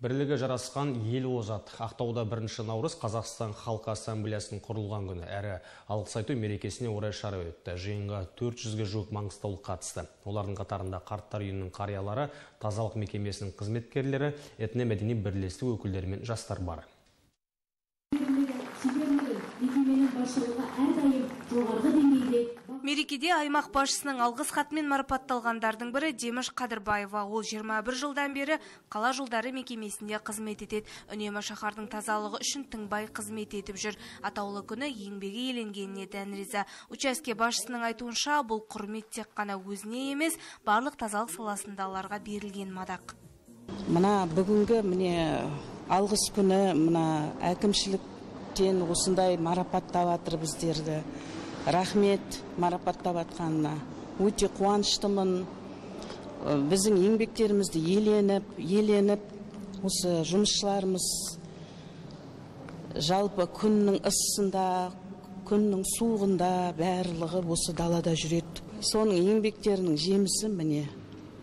Бірлігі жарасқан ел озат. Ақтауда 1 наурыз Қазақстан Халқы Ассамблеясының құрылған күні әрі алғыс айту мерекесіне орай шара өтті. Жиынға 400-ге жуық маңғыстаулық қатысты. Олардың қатарында қарттар үйінің қариялары, тазалық мекемесінің қызметкерлері, этно-мәдени бірлестік өкілдері мен жастар бар. Мерекеде аймақ басшысының алғыс хатымен марапатталғандардың бірі Демеш Қадырбаева. Ол 21 жылдан бері қала жолдары мекемесінде қызмет етеді. Үнемі шаһардың тазалығы үшін тыңбай қызмет етіп жүр. Атаулы күні еңбегі еленгеніне дән риза. Учаске басшысының айтуынша, бұл құрмет тек қана өзіне емес, барлық тазалық саласындағыларға берілген мадақ. Мына бүгінгі алғыс күні әкімшіліктен осындай марапаттап жатыр біздерді. Рахмет марапаттап жатқанына. Өте қуаныштымын. Біздің еңбектерімізді еленіп, осы жұмысшыларымыз жалпы күннің ысында, күннің суығында барлығы осы далада жүреді. Соның еңбектерінің жемісі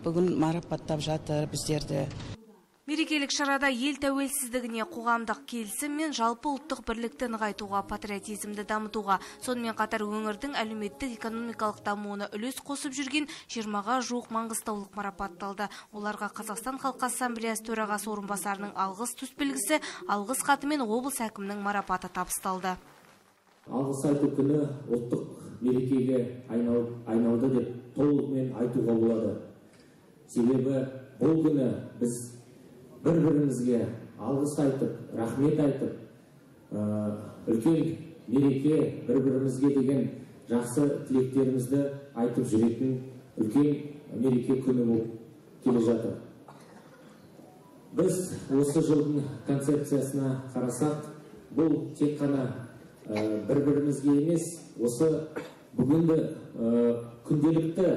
бүгін марапаттап жатыр біздерді. Мерекелік шарада ел тәуелсіздігіне, қоғамдық келісім мен жалпы ұлттық бірлікті нығайтуға, патриотизмді дамытуға, сонымен қатар өңірдің әлеуметтік экономикалық дамуына үлес қосып жүрген 20-ға жуық маңғыстаулық марапатталды. Оларға Қазақстан Халқы Ассамблеясы төрағасы орынбасарының алғыс төсбелгісі, алғыс хаты мен облыс әкімінің марапаты табысталды. Алғыс айту күні ұлттық мерекеге айналды деп толығымен айтуға болады. Себебі бұл күні біз бір-бірімізге алғыс айтып, рахмет айтып, үлкен мереке, бір-бірімізге деген жақсы тілектерімізді айтып жүретін үлкен мереке күні болып келе жатыр. Біз осы жылдың концепциясына қарасақ, бұл тек қана бір-бірімізге емес, осы бүгінгі күнделікті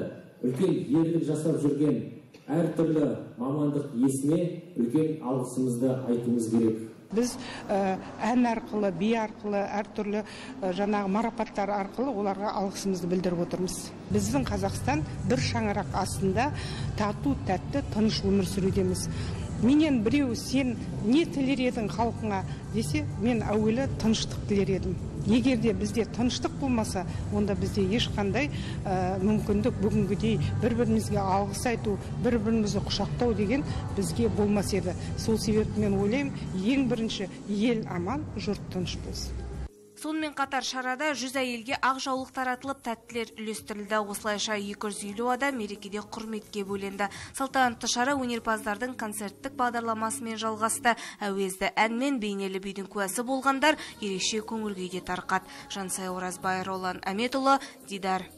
үлкен ерлік жасап жүрген әртүрлі мамандық иесіне үлкен алғысымызды айтуымыз керек. Біз ән арқылы, би арқылы, әртүрлі марапаттар арқылы оларға алғысымызды білдіріп отырмыз. Біздің Қазақстан бір шаңырақ астында тату, тәтті, тыныш өмір сүрудеміз. Менен біреу сен не тілер едің халқыңа десе, мен әуелі тыныштық тілер едім. Егер де бізде тыныштық болмаса, онда бізде ешқандай мүмкіндік бүгінгідей бір-бірімізге алғыс айту, бір-бірімізді құшақтау деген бізге болмас еді. Сол себепті мен ойлаймын, ең бірінші ел аман, жұрт тыныш болсын. Сонымен қатар шарада 100 әйелге ақ жаулық таратылып, тәттілер үлестірілді. Осылайша 250 адам мерекеде құрметке бөленді. Салтанатты шара өнерпаздардың концерттік бағдарламасымен жалғасты. Әуезді әнмен бейнелі бидің куәсі болғандар ерекше көңіл күйде тарқат. Жансай Оразбай, Ролан Әметұлы, Дидар.